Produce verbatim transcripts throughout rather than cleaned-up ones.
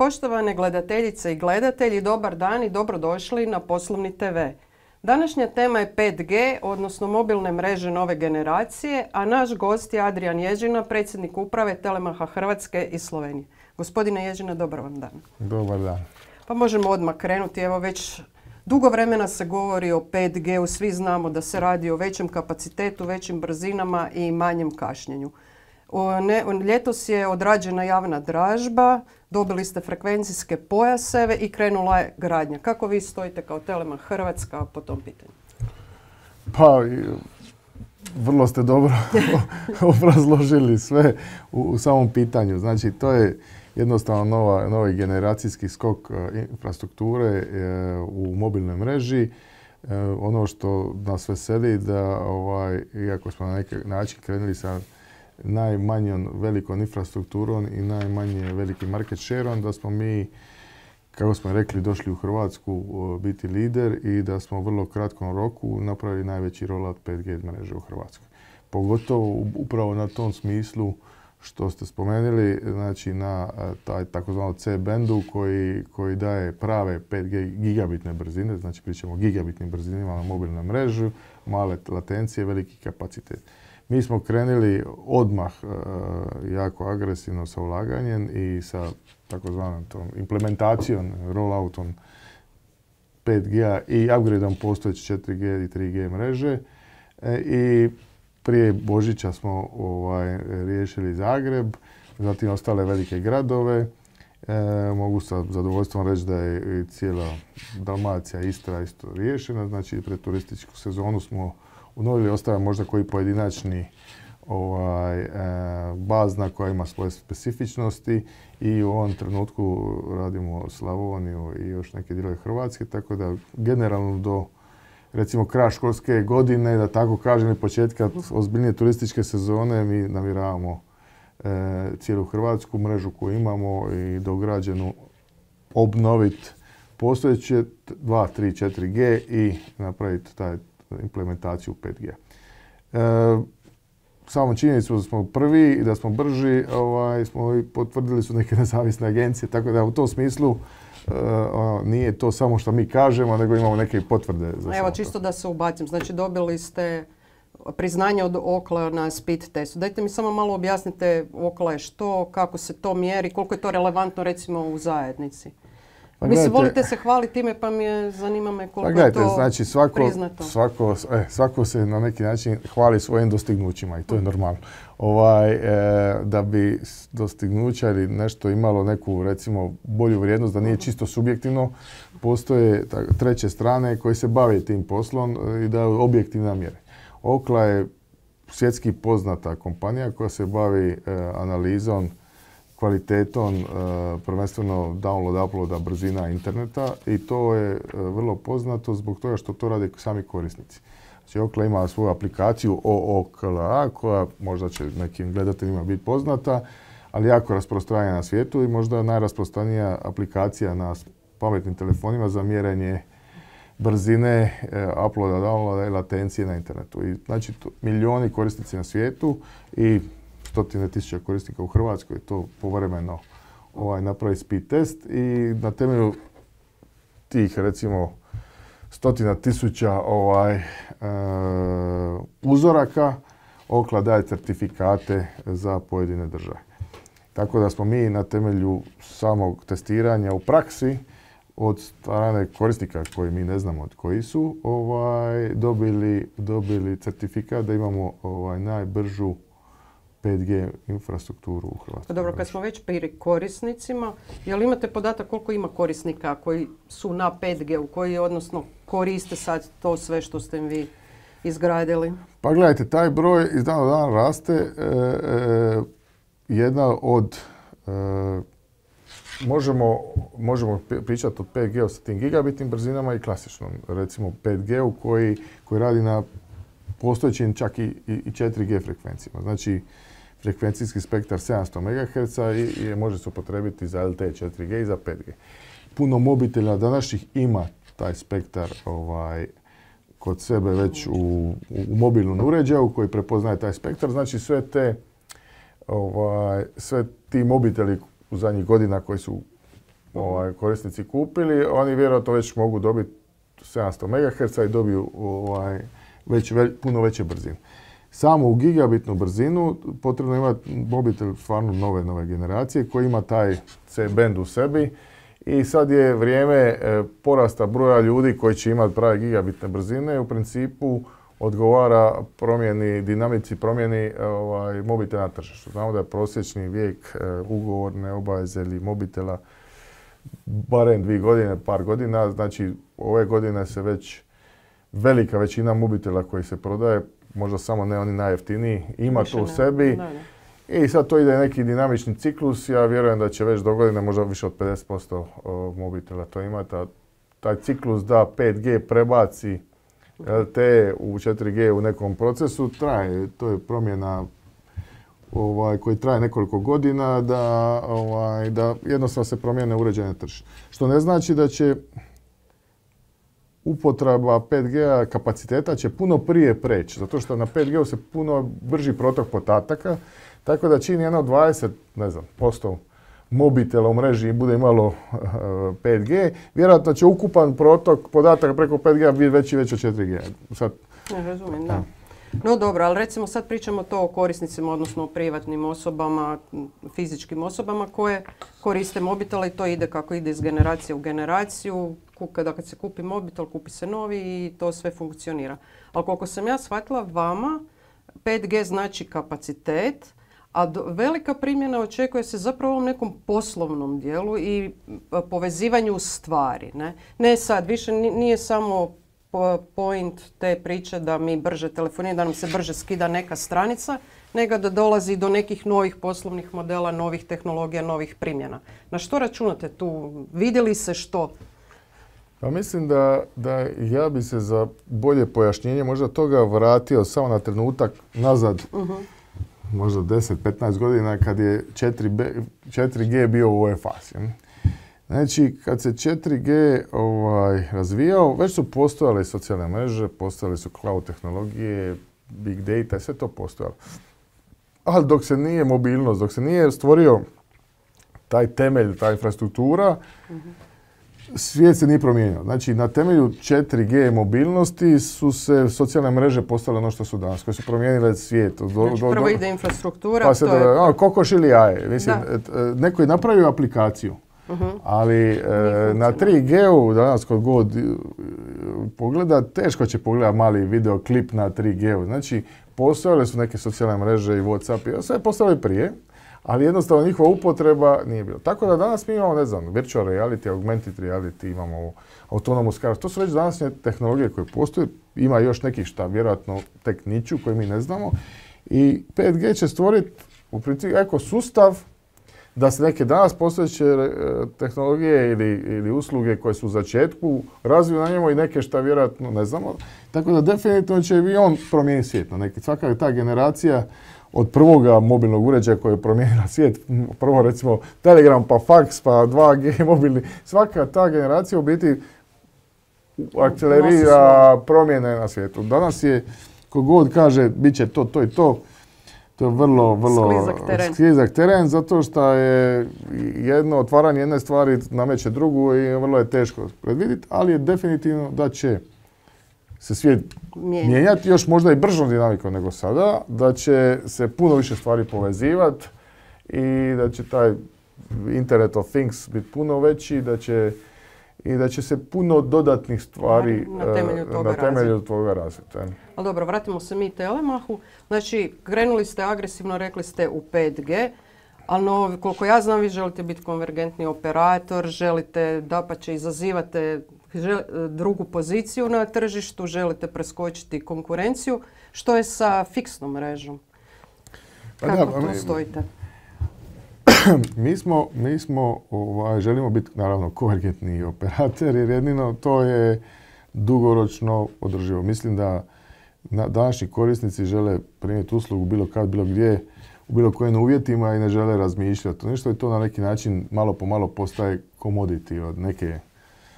Poštovane gledateljice i gledatelji, dobar dan i dobrodošli na Poslovni te ve. Današnja tema je pet ge, odnosno mobilne mreže nove generacije, a naš gost je Adrian Ježina, predsjednik uprave Telemacha Hrvatske i Slovenije. Gospodine Ježina, dobar vam dan. Dobar dan. Pa možemo odmah krenuti. Evo već dugo vremena se govori o pet geu, svi znamo da se radi o većem kapacitetu, većim brzinama i manjem kašnjenju. Ne, ljetos je odrađena javna dražba, dobili ste frekvencijske pojaseve i krenula je gradnja. Kako vi stojite kao Telemach Hrvatska po tom pitanju? Pa, vrlo ste dobro obrazložili sve u, u samom pitanju. Znači, to je jednostavno nova, novi generacijski skok infrastrukture e, u mobilnoj mreži. E, ono što nas veseli da, ovaj, iako smo na neki način krenuli sa najmanjom velikom infrastrukturom i najmanje velikim market shareom, da smo mi, kako smo rekli, došli u Hrvatsku biti lider i da smo u vrlo kratkom roku napravili najveći rollout pet ge mreže u Hrvatskoj. Pogotovo upravo na tom smislu što ste spomenuli, znači na taj takozvano ce bendu koji, koji daje prave pet ge gigabitne brzine, znači pričamo o gigabitnim brzinama na mobilnoj mreži, male latencije, veliki kapacitet. Mi smo krenuli odmah e, jako agresivno sa ulaganjem i sa takozvanom tom implementacijom, rolloutom pet gea i upgradeom postojeće četiri ge i tri ge mreže. E, I prije Božića smo ovaj, riješili Zagreb, zatim ostale velike gradove. E, mogu sa zadovoljstvom reći da je i cijela Dalmacija, Istra isto riješena. Znači, pred turističku sezonu smo unovili, ostaje možda koji pojedinačni ovaj, e, bazna koja ima svoje specifičnosti i u ovom trenutku radimo Slavoniju i još neke dijelove Hrvatske, tako da generalno do recimo kraja školske godine, da tako kažem, i početka ozbiljnije turističke sezone mi namjeravamo e, cijelu hrvatsku mrežu koju imamo i dograđenu obnoviti postojeće dva, tri, četiri ge i napraviti taj implementaciju pet ge. E, samo činjenicu da smo prvi i da smo brži, ovaj, smo i potvrdili su neke nezavisne agencije, tako da u tom smislu e, ono, nije to samo što mi kažemo, nego imamo neke potvrde. Za Evo, čisto da se ubacim. Znači, dobili ste priznanje od Okla na speed testu. Dajte mi samo malo objasnite Okla je što, kako se to mjeri, koliko je to relevantno recimo u zajednici. Pa Mislim, volite se hvaliti time, pa mi je, zanima me koliko pa gledajte, je to znači svako, priznato. Svako, eh, svako se na neki način hvali svojim dostignućima i to je normalno. Ovaj, eh, da bi dostignuća ili nešto imalo neku, recimo, bolju vrijednost, da nije čisto subjektivno, postoje treće strane koje se bave tim poslom i daju objektivne mjere. Okla je svjetski poznata kompanija koja se bavi eh, analizom, kvalitetom, e, prvenstveno download, uploada, brzina interneta i to je e, vrlo poznato zbog toga što to rade sami korisnici. Znači, Okla ima svoju aplikaciju O O K L A koja možda će nekim gledateljima biti poznata, ali jako rasprostranjena na svijetu i možda najrasprostranjenija aplikacija na pametnim telefonima za mjerenje brzine, e, uploada, downloada i latencije na internetu. I, znači, to, milijuni korisnici na svijetu i stotine tisuća korisnika u Hrvatskoj to povremeno ovaj, napravi speed test i na temelju tih recimo stotina tisuća ovaj, e, uzoraka Okla daje certifikate za pojedine države. Tako da smo mi na temelju samog testiranja u praksi od strane korisnika koji mi ne znamo od koji su ovaj, dobili, dobili certifikat da imamo ovaj, najbržu pet ge infrastrukturu u Hrvatskoj. Dobro, kad smo već pri korisnicima, jel imate podatak koliko ima korisnika koji su na pet ge, u koji odnosno koriste sad to sve što ste im vi izgradili? Pa gledajte, taj broj iz dana u dan raste. E, e, jedna od e, možemo, možemo pričati o pet ge sa tim gigabitnim brzinama i klasičnom, recimo pet ge koji, koji radi na postojećim čak i, i četiri ge frekvencijama. Znači, frekvencijski spektar sedamsto megaherca i, i može se upotrebiti za el te e četiri ge i za pet ge. Puno mobitela današnjih ima taj spektar ovaj, kod sebe već u, u, u mobilnom uređaju koji prepoznaje taj spektar. Znači sve te, ovaj, sve ti mobiteli u zadnjih godina koji su ovaj, korisnici kupili, oni vjerojatno već mogu dobiti sedamsto megaherca i dobiju ovaj, već, već, puno veće brzine. Samo u gigabitnu brzinu potrebno imati mobitel stvarno nove, nove generacije koji ima taj C-band u sebi i sad je vrijeme e, porasta broja ljudi koji će imati prave gigabitne brzine. U principu odgovara promjeni, dinamici promjeni ovaj, mobitela na tržištu. Znamo da je prosječni vijek e, ugovorne obaveze ili mobitela barem dvije godine, par godina. Znači ove godine se već velika većina mobitela koji se prodaje, možda samo ne oni najjeftiniji, ima više to u sebi. Ne, ne. I sad to ide neki dinamični ciklus. Ja vjerujem da će već do godine možda više od pedeset posto mobitela to ima. Ta, taj ciklus da pet G prebaci L T E u četiri G u nekom procesu traje. To je promjena ovaj, koji traje nekoliko godina da, ovaj, da jednostavno se promijene uređene tržište. Što ne znači da će upotreba pet G kapaciteta će puno prije preći, zato što na pet G se puno brži protok podataka, tako da čini jedno dvadeset, ne znam, posto mobitela u mreži bude imalo uh, pet G, vjerojatno će ukupan protok podataka preko pet G biti veći već od četiri G. Sad, ne razumijem, da. No dobro, ali recimo sad pričamo to o korisnicima, odnosno o privatnim osobama, fizičkim osobama koje koriste mobitela i to ide kako ide iz generacije u generaciju. Kada kad se kupi mobitel, kupi se novi i to sve funkcionira. Ali koliko sam ja shvatila, vama pet G znači kapacitet, a do, velika primjena očekuje se zapravo u ovom nekom poslovnom dijelu i povezivanju stvari. Ne, ne sad, više nije samo point te priče da mi brže telefoniramo, da nam se brže skida neka stranica, nego da dolazi do nekih novih poslovnih modela, novih tehnologija, novih primjena. Na što računate tu? Vidjeli se što? Pa mislim da, da ja bi se za bolje pojašnjenje možda toga vratio samo na trenutak nazad, uh-huh. možda deset do petnaest godina kad je četiri G bio u ovoj fazi. Znači, kad se četiri G ovaj, razvijao, već su postojale socijalne mreže, postojale su cloud tehnologije, big data, sve to postojalo. Ali dok se nije mobilnost, dok se nije stvorio taj temelj, ta infrastruktura, uh-huh. svijet se nije promijenio. Znači, na temelju četiri G mobilnosti su se socijalne mreže postale ono što su danas, koje su promijenile svijet. Do, znači, do, prvo ide infrastruktura, pa se to do, je... No, kokoš ili jaje. Mislim, neko je napravio aplikaciju, uh-huh. ali e, na tri G-u danas kod god pogleda, teško će pogledati mali videoklip na tri G-u. Znači, postojale su neke socijalne mreže i WhatsApp i sve postavili prije, ali jednostavno njihova upotreba nije bila. Tako da danas mi imamo, ne znam, virtual reality, augmented reality, imamo autonomous cars. To su već današnje tehnologije koje postoje. Ima još nekih šta vjerojatno tek niču koje mi ne znamo. I pet G će stvoriti u principu ekosustav da se neke danas postojeće tehnologije ili, ili usluge koje su u začetku razviju na njemu i neke šta vjerojatno ne znamo. Tako da definitivno će i on promijeniti svijet. Neki, svaka ta generacija od prvoga mobilnog uređaja koji je promijenila svijet, prvo recimo Telegram, pa fax, pa dva G mobilni, svaka ta generacija u biti akcelerira promjene na svijetu. Danas je, kogod kaže, bit će to, to i to, to je vrlo, vrlo sklizak teren. sklizak teren, zato što je jedno otvaranje jedne stvari nameće drugu i vrlo je teško predvidjeti, ali je definitivno da će se svijet Mijenja. mijenjati još možda i bržom dinamikom nego sada, da će se puno više stvari povezivati i da će taj Internet of Things biti puno veći, da će i da će se puno dodatnih stvari na temelju toga, na temelju toga razviti. Ali dobro, vratimo se mi Telemahu. Znači, krenuli ste agresivno, rekli ste u pet G, ali no, koliko ja znam, vi želite biti konvergentni operator, želite dapače izazivate drugu poziciju na tržištu, želite preskočiti konkurenciju. Što je sa fiksnom mrežom? Kako pa da, tu mi, stojite? Mi smo, mi smo ovaj, želimo biti naravno konvergentni operator jer jedino to je dugoročno održivo. Mislim da na, današnji korisnici žele primiti uslugu bilo kad, bilo gdje, u bilo kojim uvjetima i ne žele razmišljati. Nešto je to na neki način malo po malo postaje commodity od neke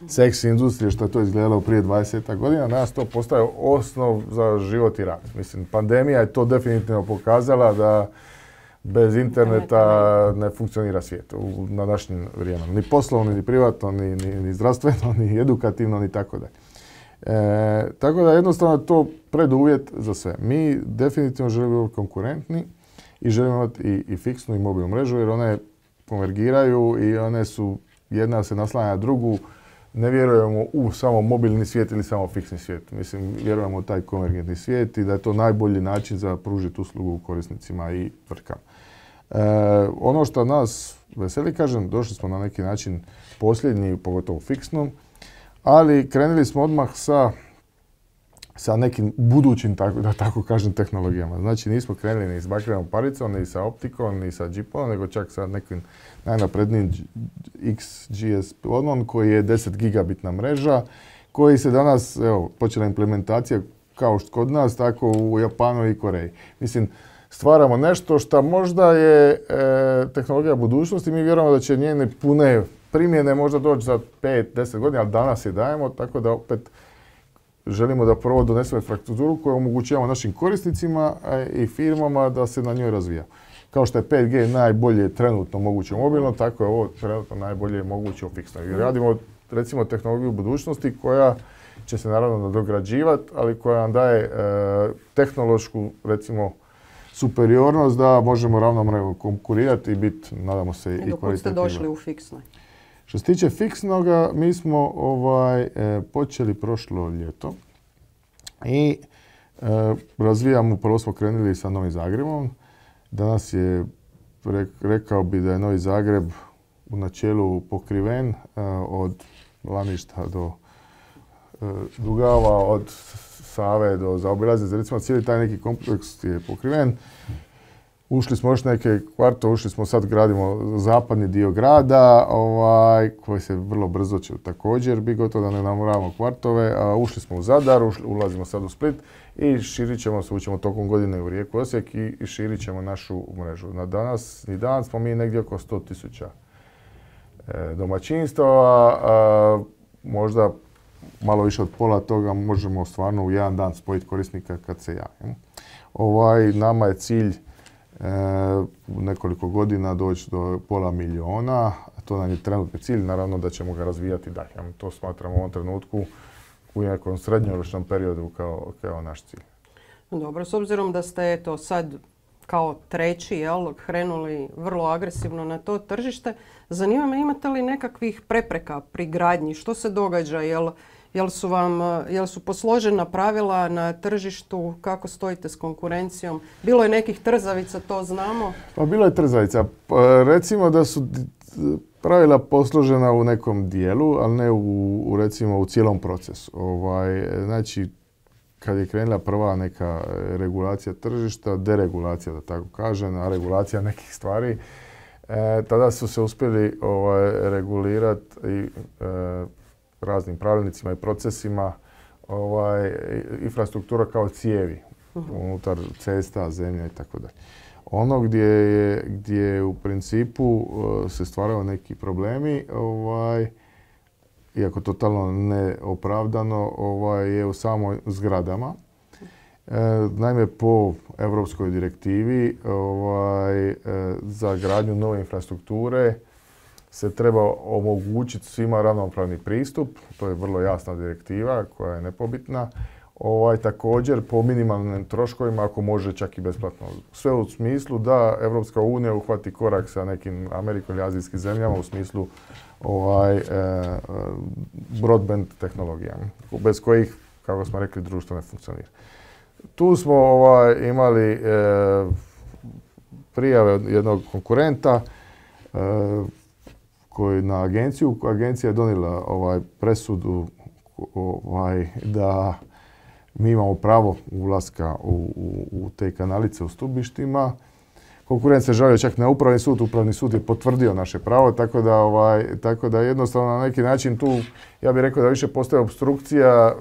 seksi industrije što je to izgledalo prije dvadeset godina. Danas to postaje osnov za život i rad. Mislim, pandemija je to definitivno pokazala da Bez interneta ne funkcionira svijet u, na današnjem vrijeme. Ni poslovno, ni privatno, ni, ni, ni zdravstveno, ni edukativno, ni tako da. E, tako da jednostavno je to preduvjet za sve. Mi definitivno želimo biti konkurentni i želimo imati i, i fiksnu i mobilnu mrežu jer one konvergiraju i one su, jedna se naslanja na drugu. Ne vjerujemo u samo mobilni svijet ili samo fiksni svijet. Mislim, vjerujemo u taj konvergentni svijet i da je to najbolji način za pružiti uslugu korisnicima i tvrtkama. E, ono što nas veseli, kažem, došli smo na neki način posljednji, pogotovo fiksnom, ali krenuli smo odmah sa, sa nekim budućim, tako, da tako kažem, tehnologijama. Znači nismo krenuli ni s bakrenom paricom, ni sa optikom, ni sa džipom, nego čak sa nekim najnaprednijim X G S P-om koji je deset gigabitna mreža, koji se danas, evo, počela implementacija kao što kod nas, tako u Japanu i Koreji. Mislim, stvaramo nešto što možda je e, tehnologija budućnosti, mi vjerujemo da će njene pune primjene možda doći za pet do deset godina, ali danas je dajemo, tako da opet želimo da prvo donesemo infrastrukturu koju omogućavamo našim korisnicima i firmama da se na njoj razvija. Kao što je pet G najbolje trenutno moguće mobilno, tako je ovo trenutno najbolje moguće u fiksnoj. I radimo recimo tehnologiju budućnosti koja će se naravno nadograđivati, ali koja nam daje e, tehnološku recimo superiornost da možemo ravnomjerno konkurirati i biti, nadamo se, i kvalitetniji. Dok ste došli u fiksnoj? Što se tiče fiksnoga, mi smo ovaj, e, počeli prošlo ljeto i e, razvijamo, prvo smo krenuli sa Novim Zagrebom. Danas je, re, rekao bi da je Novi Zagreb u načelu pokriven e, od Laništa do e, Dugava, od Save do zaobilaznice. Recimo cijeli taj neki kompleks je pokriven. Ušli smo još neke kvartove, ušli smo sad, gradimo zapadni dio grada, ovaj, koji se vrlo brzo će također biti gotovo da ne namoravamo kvartove. A ušli smo u Zadar, ušli, ulazimo sad u Split i širit ćemo se, ućemo tokom godine u Rijeku, Osijek i, i širit ćemo našu mrežu. Na danas, ni danas smo mi negdje oko sto tisuća e, domaćinstava, a, možda malo više od pola toga možemo stvarno u jedan dan spojiti korisnika kad se javi. Ovaj, nama je cilj E, u nekoliko godina doći do pola miliona, to nam je trenutni cilj, naravno da ćemo ga razvijati dalje. To smatramo u ovom trenutku u nekom srednjoročnom periodu kao, kao naš cilj. Dobro, s obzirom da ste eto sad kao treći, jel, krenuli vrlo agresivno na to tržište, zanima me imate li nekakvih prepreka pri gradnji? Što se događa? Jel, Jel su vam, jel su posložena pravila na tržištu, kako stojite s konkurencijom? Bilo je nekih trzavica, to znamo. Pa bilo je trzavica. Pa, recimo da su pravila posložena u nekom dijelu, ali ne u, u recimo u cijelom procesu. Ovaj, znači, kad je krenula prva neka regulacija tržišta, deregulacija da tako kažem, a regulacija nekih stvari, e, tada su se uspjeli ovaj, regulirati i e, raznim pravilnicima i procesima ovaj, infrastruktura kao cijevi uh-huh. unutar cesta, zemlja i tako dalje. Ono gdje je, gdje je u principu uh, se stvaraju neki problemi, ovaj, iako totalno neopravdano, ovaj, je u samoj zgradama. E, naime, po Europskoj direktivi ovaj, e, za gradnju nove infrastrukture se treba omogućiti svima ravnopravni pristup, to je vrlo jasna direktiva koja je nepobitna. Ovaj, također po minimalnim troškovima, ako može čak i besplatno. Sve u smislu da Europska unija uhvati korak sa nekim Amerikom ili azijskim zemljama u smislu ovaj, e, broadband tehnologijama, bez kojih, kako smo rekli, društvo ne funkcionira. Tu smo ovaj, imali e, prijave od jednog konkurenta e, koji na agenciju, agencija je donijela ovaj, presudu ovaj, da mi imamo pravo ulaska u, u, u te kanalice u stubištima. Konkurent se žalio čak na upravni sud, upravni sud je potvrdio naše pravo, tako da, ovaj, tako da jednostavno na neki način tu, ja bih rekao da više postoji opstrukcija,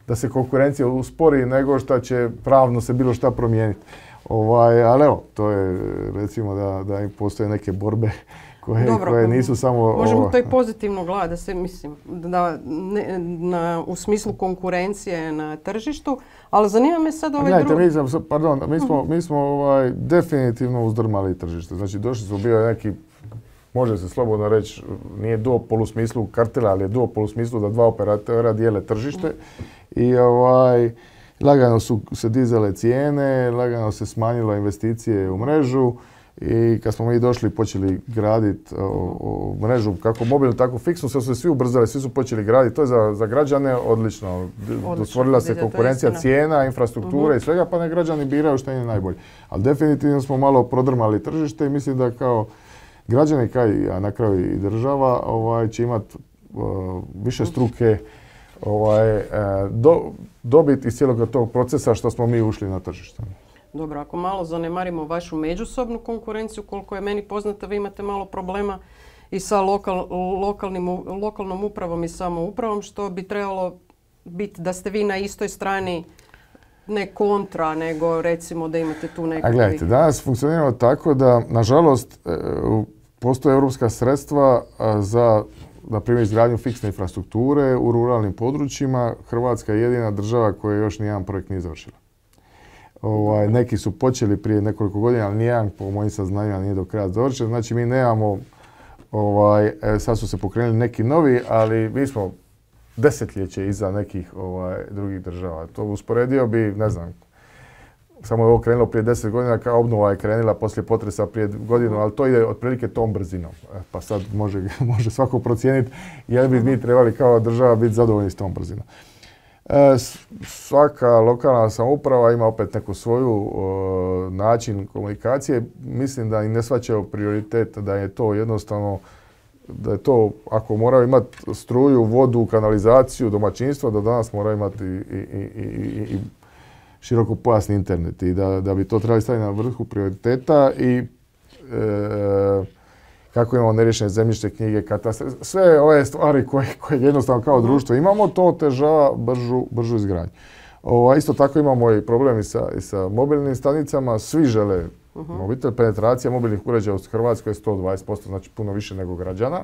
da se konkurencija uspori nego što će pravno se bilo šta promijeniti. Ovaj, ali evo, to je recimo da, da postoje neke borbe koje, Dobro, koje nisu samo... možemo ovo, to i pozitivno gledati, da se, mislim, da ne, na, u smislu konkurencije na tržištu, ali zanima me sad ovaj Gledajte, drugi... mi smo, pardon, mi smo, mi smo ovaj, definitivno uzdrmali tržište. Znači, došli smo bio neki, može se slobodno reći, nije duopol u smislu kartela, ali je duopol u smislu da dva operatera dijele tržište. I ovaj, lagano su se dizale cijene, lagano se smanjilo investicije u mrežu. I kad smo mi došli i počeli graditi mrežu kako mobilnu, tako fiksnu, sve su se svi ubrzali, svi su počeli graditi. To je za, za građane odlično. Stvorila se konkurencija cijena, infrastrukture uh-huh. i svega, pa ne građani biraju što im je najbolje. Ali definitivno smo malo prodrmali tržište i mislim da kao građani, kaj, a na kraju i država, ovaj, će imati uh, više struke ovaj, uh, do, dobiti iz cijelog tog procesa što smo mi ušli na tržište. Dobro, ako malo zanemarimo vašu međusobnu konkurenciju, koliko je meni poznato, vi imate malo problema i sa lokal, lokalnim, lokalnom upravom i samoupravom, što bi trebalo biti da ste vi na istoj strani, ne kontra, nego recimo da imate tu neku... A gledajte, danas funkcioniramo tako da, nažalost, postoje europska sredstva za, na primjer, izgradnju fiksne infrastrukture u ruralnim područjima. Hrvatska je jedina država koja još nijedan projekt nije završila. Ovaj, neki su počeli prije nekoliko godina, ali nijedan, po mojim saznanjima, nije do kraja završen. Znači, mi nemamo, ovaj, sad su se pokrenuli neki novi, ali mi smo desetljeće iza nekih ovaj, drugih država. To usporedio bi, ne znam, samo je ovo krenulo prije deset godina, kao obnova je krenula poslije potresa prije godinu, ali to ide otprilike tom brzinom. Pa sad može, može svako procijeniti je bi mi trebali kao država biti zadovoljni s tom brzinom. E, svaka lokalna samouprava ima opet neku svoju o, način komunikacije. Mislim da i ne shvaćaju prioritet, da je to jednostavno, da je to, ako moraju imati struju, vodu, kanalizaciju, domaćinstvo, da danas moraju imati i, i, i, i, i širokopojasni internet i da, da bi to trebali staviti na vrhu prioriteta i e, kako imamo neriješene zemljišne knjige, katastre, sve ove stvari koje, koje jednostavno kao društvo imamo, to otežava bržu, bržu izgradnju. O, isto tako imamo i problemi sa, i sa mobilnim stanicama, svi žele uh-huh. mobitel, penetracija mobilnih uređaja u Hrvatskoj je sto dvadeset posto, znači puno više nego građana,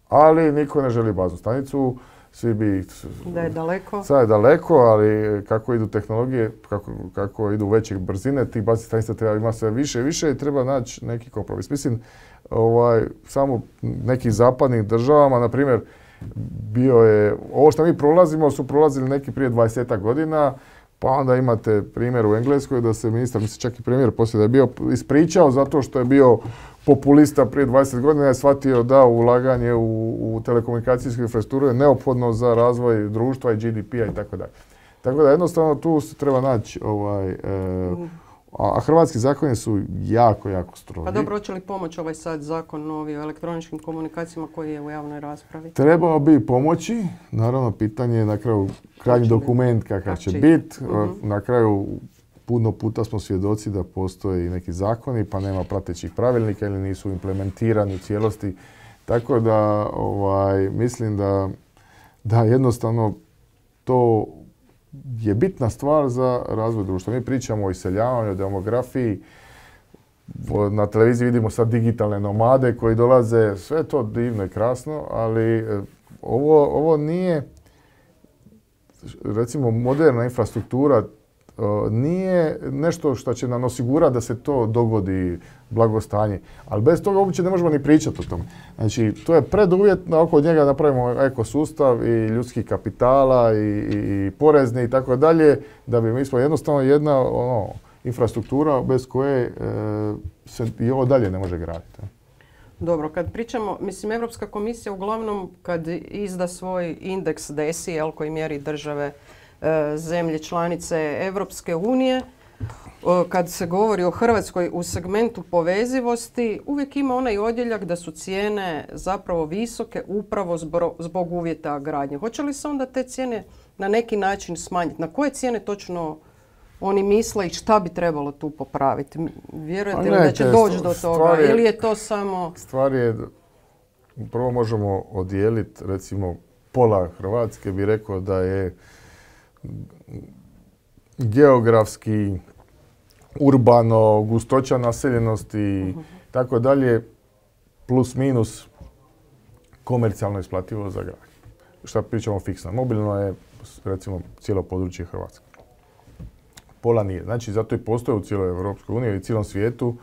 ali niko ne želi baznu stanicu. Svi bi... Da je daleko. Sad je daleko, ali kako idu tehnologije, kako, kako idu veće brzine, tih baznih stanica treba ima sve više i više i treba naći neki kompromis. Mislim, ovaj, samo nekih zapadnih državama, na primjer, bio je, ovo što mi prolazimo su prolazili neki prije dvadesetak godina, pa onda imate primjer u Engleskoj da se ministar, mislim čak i premijer poslije da je bio ispričao zato što je bio populista prije dvadeset godina, je shvatio da ulaganje u, u telekomunikacijsku infrastrukturu je neophodno za razvoj društva i G D P-a i tako dalje. Tako da jednostavno tu se treba naći, ovaj, e, a hrvatski zakoni su jako, jako strogi. Pa dobro, hoće li pomoći ovaj sad zakon novi o elektroničkim komunikacijama koji je u javnoj raspravi? Trebao bi pomoći, naravno pitanje je na kraju krajnji dokument kakav će biti. Uh-huh. Na kraju puno puta smo svjedoci da postoje i neki zakoni pa nema pratećih pravilnika ili nisu implementirani u cijelosti. Tako da ovaj, mislim da, da jednostavno to je bitna stvar za razvoj društva. Mi pričamo o iseljavanju, o demografiji. Na televiziji vidimo sad digitalne nomade koji dolaze. Sve je to divno i krasno, ali ovo, ovo nije, recimo, moderna infrastruktura nije nešto što će nam osigurati da se to dogodi blagostanje. Ali bez toga uopće ne možemo ni pričati o tome. Znači, to je preduvjet da oko njega napravimo ekosustav i ljudskih kapitala i, i, i porezne i tako dalje, da bi mi smo jednostavno jedna ono, infrastruktura bez koje e, se i ovo dalje ne može graditi. Dobro, kad pričamo, mislim, Europska komisija uglavnom kad izda svoj indeks D E S I, jel, koji mjeri države zemlje članice Europske unije, kad se govori o Hrvatskoj u segmentu povezivosti, uvijek ima onaj odjeljak da su cijene zapravo visoke upravo zbog uvjeta gradnje. Hoće li se onda te cijene na neki način smanjiti? Na koje cijene točno oni misle i šta bi trebalo tu popraviti? Vjerujete li da će doći do toga je, ili je to samo... Stvar je, prvo možemo odijeliti, recimo pola Hrvatske bi rekao da je geografski, urbano, gustoća naseljenosti i uh-huh. tako dalje plus minus komercijalno isplativo za grad. Šta pričamo fiksno? Mobilno je, recimo, cijelo područje Hrvatske. Pola nije. Znači, zato i postoje u cijeloj Europskoj uniji i cijelom svijetu,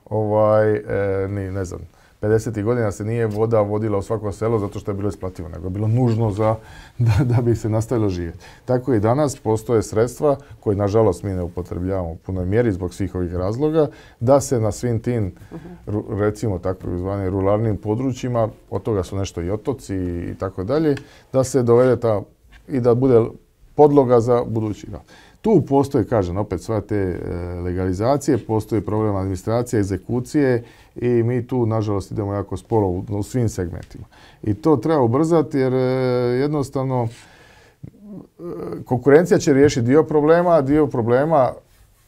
ovaj, e, ni, ne znam, pedesetih godina se nije voda vodila u svako selo zato što je bilo isplativo, nego je bilo nužno za, da, da bi se nastavilo živjeti. Tako i danas postoje sredstva koje, nažalost, mi ne upotrebljavamo u punoj mjeri zbog svih ovih razloga, da se na svim tim, uh-huh. recimo tako zvanim ruralnim područjima, od toga su nešto i otoci i tako dalje, da se dovede ta i da bude podloga za budući rad. Tu postoji, kažem, opet sve te legalizacije, postoji problem administracije, egzekucije i mi tu, nažalost, idemo jako sporo u, u svim segmentima. I to treba ubrzati jer jednostavno konkurencija će riješiti dio problema, a dio problema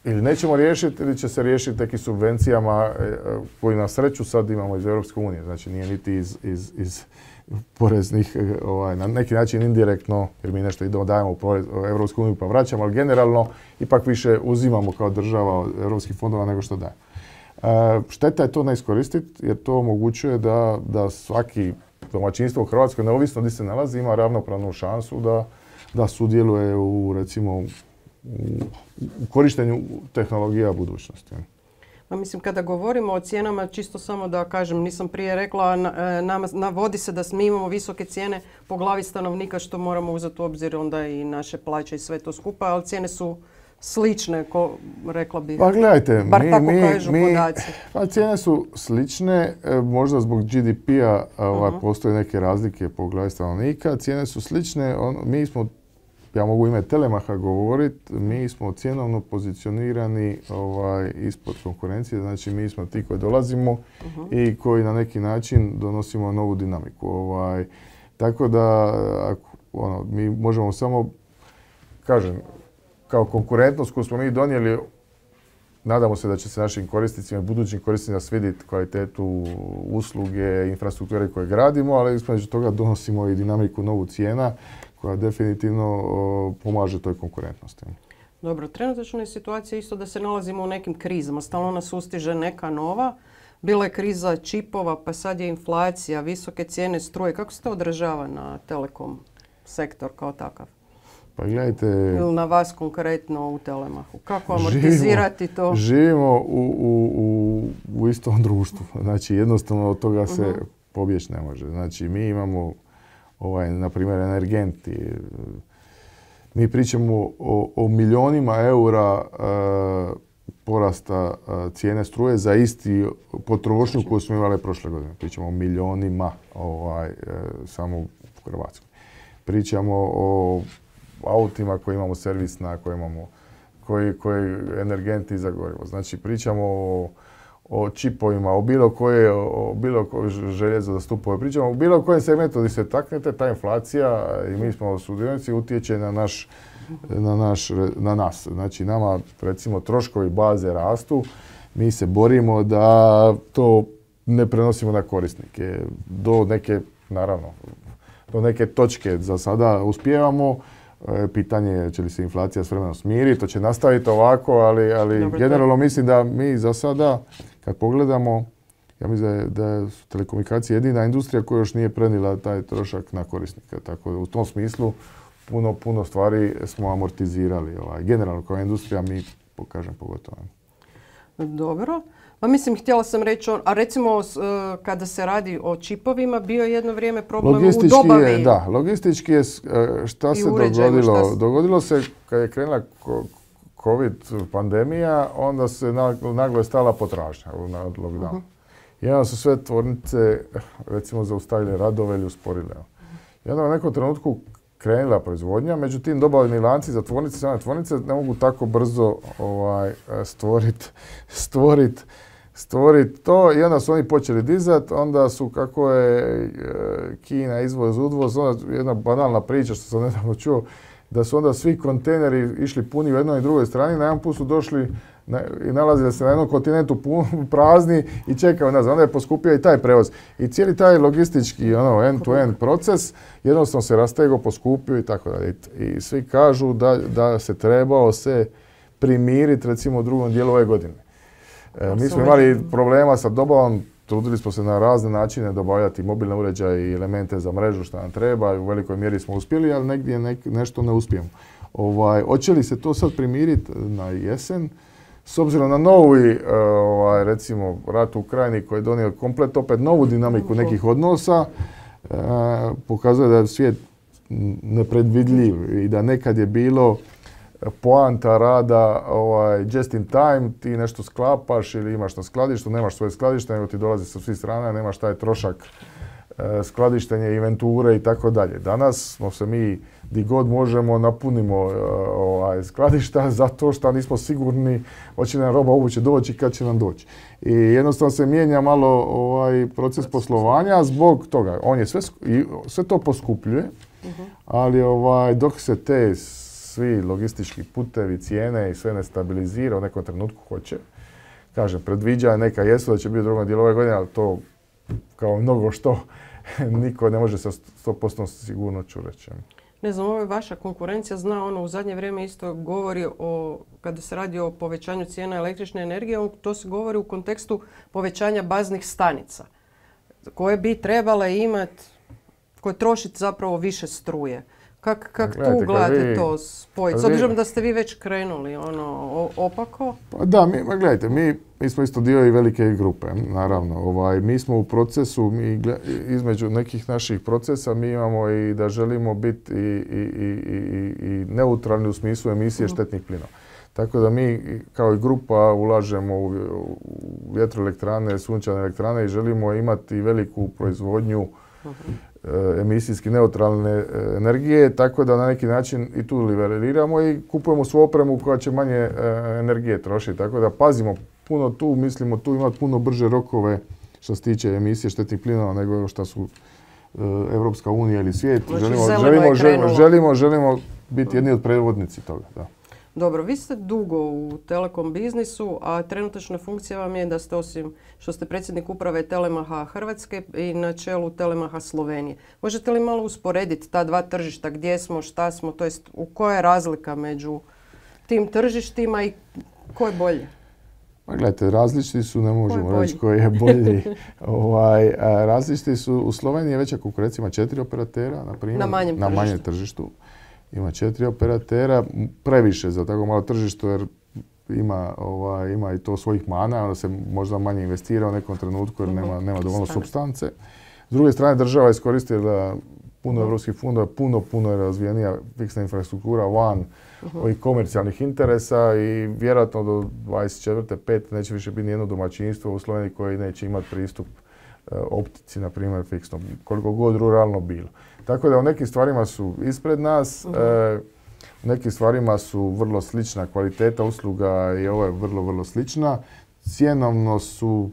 ili nećemo riješiti ili će se riješiti nekim subvencijama koji na sreću sad imamo iz Europske unije. Znači nije niti iz, iz, iz poreznih, ovaj, na neki način indirektno, jer mi nešto idemo dajemo u Europsku uniju pa vraćamo, ali generalno ipak više uzimamo kao država od europskih fondova nego što dajemo. E, šteta je to ne iskoristiti jer to omogućuje da, da svaki domaćinstvo u Hrvatskoj, neovisno gdje se nalazi, ima ravnopravnu šansu da, da sudjeluje u, recimo, u, u korištenju tehnologija budućnosti. Ma mislim, kada govorimo o cijenama, čisto samo da kažem, nisam prije rekla, nama navodi se da mi imamo visoke cijene po glavi stanovnika, što moramo uzeti u obzir onda i naše plaće i sve to skupa, ali cijene su slične, ko, rekla bih. Pa gledajte, bar mi, tako mi, kažu mi, podaci. Pa cijene su slične, možda zbog G D P-a ovaj, uh-huh. postoje neke razlike po glavi stanovnika, cijene su slične, on, mi smo, ja mogu ime Telemaha govoriti, mi smo cjenovno pozicionirani ovaj, ispod konkurencije, znači mi smo ti koji dolazimo uh-huh. i koji na neki način donosimo novu dinamiku. Ovaj, tako da ono, mi možemo samo, kažem, kao konkurentnost koju smo mi donijeli, nadamo se da će se našim korisnicima i budućim korisnicima svidjeti kvalitetu usluge, infrastrukture koje gradimo, ali između toga donosimo i dinamiku novu cijena koja definitivno o, pomaže toj konkurentnosti. Dobro, trenutačno je situacija isto da se nalazimo u nekim krizama. Stalno nas ustiže neka nova. Bila je kriza čipova, pa sad je inflacija, visoke cijene struje. Kako se to odražava na telekom sektor kao takav? Pa gledajte... Ili na vas konkretno u Telemahu. Kako amortizirati živimo, to? Živimo u, u, u, u istom društvu. Znači jednostavno od toga se uh-huh. pobjeći ne može. Znači mi imamo ovaj, na primjer, energenti. Mi pričamo o, o milionima eura e, porasta e, cijene struje za isti potrošnju koju smo imali prošle godine. Pričamo o milionima ovaj, e, samo u Hrvatskoj. Pričamo o autima koji imamo servisna, koji imamo koji, koji energenti za gorivo. Znači pričamo o o čipovima, o bilo koje, o bilo koje željezo za stupove. Pričamo o bilo kojem segmentu gdje se taknete, ta inflacija i mi smo sudionici utječe na, naš, na, naš, na nas. Znači nama recimo troškovi baze rastu, mi se borimo da to ne prenosimo na korisnike. Do neke, naravno, do neke točke za sada uspijevamo. Pitanje je će li se inflacija s vremenom smiriti, to će nastaviti ovako, ali, ali Dobre, generalno mislim da mi za sada, kad pogledamo, ja mislim da je, da su telekomunikacije jedina industrija koja još nije prenijela taj trošak na korisnika. Tako da u tom smislu puno, puno stvari smo amortizirali. Ovaj. Generalno kao industrija mi, pokažem, pogotovo. Dobro. Pa mislim, htjela sam reći, a recimo kada se radi o čipovima, bio je jedno vrijeme problem u dobavi. Je, da, logistički je, šta se dogodilo? Šta... Dogodilo se kad je krenula COVID pandemija, onda se naglo je stala potražnja na lockdown. Uh-huh. I onda su sve tvornice, recimo, zaustavile radove ili usporile. I onda u nekom trenutku krenula proizvodnja, međutim dobavni lanci za tvornice, same tvornice ne mogu tako brzo ovaj, stvoriti stvorit, stvorit to i onda su oni počeli dizati, onda su kako je Kina izvoz, udvoz, onda jedna banalna priča što sam nedavno čuo, da su onda svi kontejneri išli puni u jednoj i drugoj strani, na jedan put su došli na, i nalazili se na jednom kontinentu pun, prazni i čekaju nas. Onda je poskupio i taj prevoz. I cijeli taj logistički ono, end-to-end proces jednostavno se rastegao, poskupio i tako dalje. I svi kažu da, da se trebao se primiriti recimo u drugom dijelu ove godine. E, mi smo imali problema sa dobavom trudili smo se na razne načine dobavljati mobilne uređaje i elemente za mrežu što nam treba i u velikoj mjeri smo uspjeli, ali negdje nek, nešto ne uspijemo. Ovaj, hoće li se to sad primiriti na jesen? S obzirom na novi, ovaj, recimo, rat u Ukrajini koji je donio komplet opet novu dinamiku nekih odnosa, eh, pokazuje da je svijet nepredvidljiv i da nekad je bilo poanta rada ovaj, just in time, ti nešto sklapaš ili imaš na skladištu, nemaš svoje skladište, nego ti dolazi sa svih strana, nemaš taj trošak e, skladištenja, inventure i tako dalje. Danas smo se mi, di god možemo, napunimo e, ovaj, skladišta zato što nismo sigurni hoće nam roba uopće doći i kad će nam doći. I jednostavno se mijenja malo ovaj, proces poslovanja zbog toga. On je sve, sve to poskupljuje, ali ovaj, dok se te svi logistički putevi, cijene i sve ne stabilizira, u nekom trenutku hoće. Kažem, predviđa neka jesu da će biti u drugom dijelu ove godine, ali to kao mnogo što niko ne može sa sto posto sigurnošću reći. Ne znam, ovo je vaša konkurencija, zna ono u zadnje vrijeme isto govori o, kada se radi o povećanju cijena električne energije, to se govori u kontekstu povećanja baznih stanica, koje bi trebale imati, koje trošiti zapravo više struje. Kako kak tu gledate vi, to spojiti? S obzirom da ste vi već krenuli ono, opako? Pa da, mi, ma gledajte, mi, mi smo isto dio i velike grupe, naravno. Ovaj, mi smo u procesu, mi, između nekih naših procesa mi imamo i da želimo biti i, i, i, i, i neutralni u smislu emisije uh-huh. štetnih plinova. Tako da mi kao i grupa ulažemo u, u vjetroelektrane, sunčane elektrane i želimo imati veliku proizvodnju uh-huh. emisijski neutralne energije, tako da na neki način i tu liberiramo i kupujemo svu opremu koja će manje energije trošiti. Tako da pazimo puno tu, mislimo tu imati puno brže rokove što se tiče emisije štetnih plinova nego što su Evropska unija ili svijet. Znači, želimo, želimo, želimo, želimo, želimo biti jedni od predvodnici toga. Da. Dobro, vi ste dugo u telekom biznisu, a trenutačna funkcija vam je da ste osim što ste predsjednik uprave Telemaha Hrvatske i na čelu Telemaha Slovenije. Možete li malo usporediti ta dva tržišta, gdje smo, šta smo, to jest u koja je razlika među tim tržištima i ko je bolje? Pa gledajte, različiti su, ne možemo reći koji je bolji. ovaj, različiti su, u Sloveniji je veća konkurencija, ima četiri operatera, na primjer, na manjem na manjem tržištu. Ima četiri operatera, previše za tako malo tržište jer ima, ovaj, ima i to svojih mana, onda se možda manje investira u nekom trenutku jer nema, nema dovoljno supstance. S druge strane, država je iskoristila puno evropskih fondova, puno, puno je razvijenija fiksna infrastruktura van uh-huh. ovih komercijalnih interesa i vjerojatno do dvadeset četvrte pete neće više biti nijedno domaćinstvo u Sloveniji koje neće imati pristup uh, optici, na primjer, fiksno, koliko god ruralno bilo. Tako da u nekim stvarima su ispred nas, uh-huh. e, u nekim stvarima su vrlo slična kvaliteta usluga i ovo je vrlo, vrlo slična. Cjenovno su,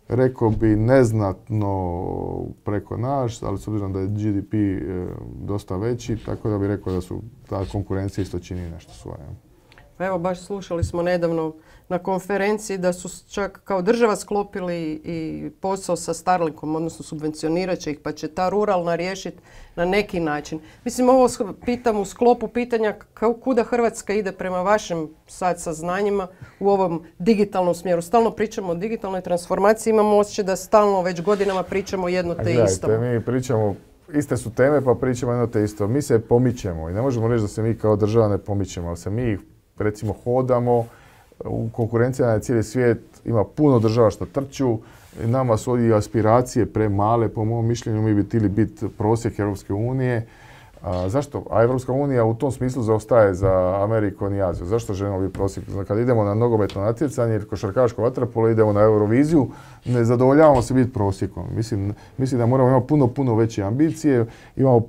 rekao bi, neznatno preko nas, ali s obzirom da je G D P e, dosta veći, tako da bih rekao da su ta konkurencija isto čini nešto svoje. Pa evo, baš slušali smo nedavno na konferenciji da su čak kao država sklopili i posao sa Starlinkom, odnosno subvencionirat će ih, pa će ta ruralna riješiti na neki način. Mislim, ovo pitam u sklopu pitanja kuda Hrvatska ide prema vašim sad saznanjima u ovom digitalnom smjeru. Stalno pričamo o digitalnoj transformaciji, imamo osjećaj da stalno već godinama pričamo jedno te gledajte, isto. Mi pričamo, iste su teme pa pričamo jedno te isto. Mi se pomičemo i ne možemo reći da se mi kao država ne pomičemo, ali se mi recimo hodamo, u konkurenciji na cijeli svijet ima puno država što trču, nama su ovdje aspiracije premale, po mom mišljenju mi bi htjeli biti prosjek Europske unije. A, zašto? A Europska unija u tom smislu zaostaje za Amerikom i Azijom. Zašto želimo biti prosjek? Kad idemo na nogometno natjecanje ili košarkaško vaterpolo, idemo na Euroviziju, ne zadovoljavamo se biti prosjekom. Mislim, mislim da moramo imati puno, puno veće ambicije, imamo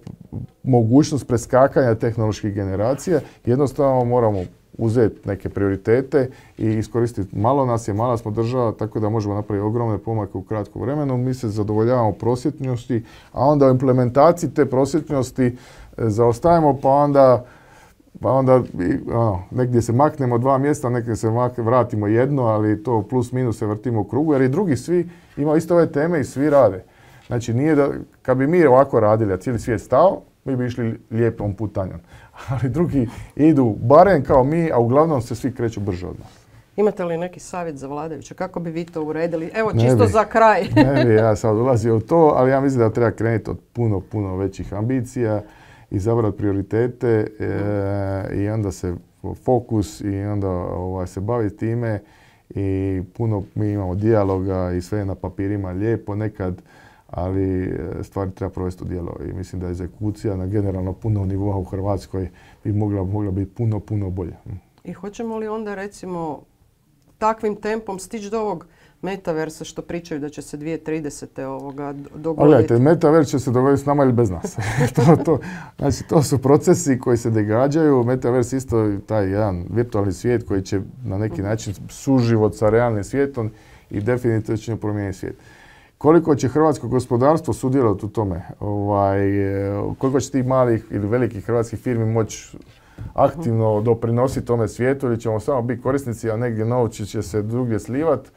mogućnost preskakanja tehnoloških generacija, jednostavno moramo uzeti neke prioritete i iskoristiti. Malo nas je, mala smo država, tako da možemo napraviti ogromne pomake u kratkom vremenu. Mi se zadovoljavamo prosječnosti, a onda u implementaciji te prosječnosti zaostajemo, pa onda, pa onda ono, negdje se maknemo dva mjesta, negdje se mak, vratimo jedno, ali to plus minus se vrtimo u krugu, jer i drugi svi imaju isto ove teme i svi rade. Znači, nije da, kad bi mi ovako radili, a cijeli svijet stao, mi bi išli lijepom putanjom. Ali drugi idu barem kao mi, a uglavnom se svi kreću brže od nas. Imate li neki savjet za vladajuće? Kako bi vi to uredili? Evo, Ne čisto bi. za kraj. Ne bi ja sad ulazio u to, ali ja mislim da treba krenuti od puno, puno većih ambicija, izabrati prioritete e, i onda se fokus i onda ovaj, se baviti time i puno mi imamo dijaloga i sve je na papirima lijepo nekad, ali stvari treba provesti u djelo i mislim da egzekucija na generalno puno nivoa u Hrvatskoj bi mogla, mogla biti puno, puno bolja. I hoćemo li onda recimo takvim tempom stići do ovog metaversa što pričaju da će se dvije tisuće tridesete ovoga dogoditi? Gledajte, metavers će se dogoditi s nama ili bez nas. to, to, znači, to su procesi koji se događaju. Metavers isto taj jedan virtualni svijet koji će na neki način suživot sa realnim svijetom i definitivno će promijeniti svijet. Koliko će hrvatsko gospodarstvo sudjelovati u tome? Ovaj, koliko će tih malih ili velikih hrvatskih firmi moći aktivno doprinositi tome svijetu ili ćemo samo biti korisnici, a negdje novci će se drugdje slivati,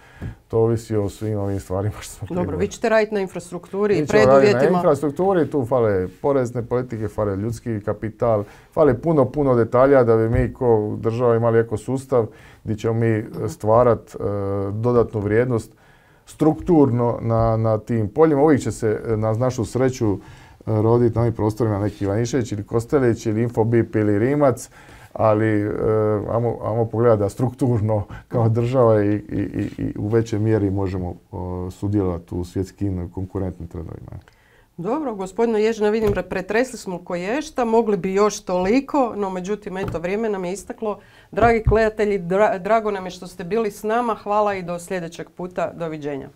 to ovisi o svim ovim stvarima što smo Dobro, govorili. vi ćete raditi na infrastrukturi i preduvjetima. preduvjetima. Na infrastrukturi, tu fale porezne politike, fale ljudski kapital, fale puno, puno detalja da bi mi kao država imali ekosustav gdje ćemo mi stvarati uh, dodatnu vrijednost strukturno na, na tim poljima. Uvijek će se na našu sreću roditi na ovim prostorima neki Ivanišević ili Kostelić ili Infobip ili Rimac, ali e, ajmo, ajmo pogledati da strukturno kao država i, i, i u većoj mjeri možemo o, sudjelovati u svjetskim konkurentnim trendovima. Dobro, gospodine Ježina, vidim pretresli smo ko ješta, mogli bi još toliko, no međutim, eto, vrijeme nam je istaklo. Dragi gledatelji, dra, drago nam je što ste bili s nama, hvala i do sljedećeg puta, doviđenja.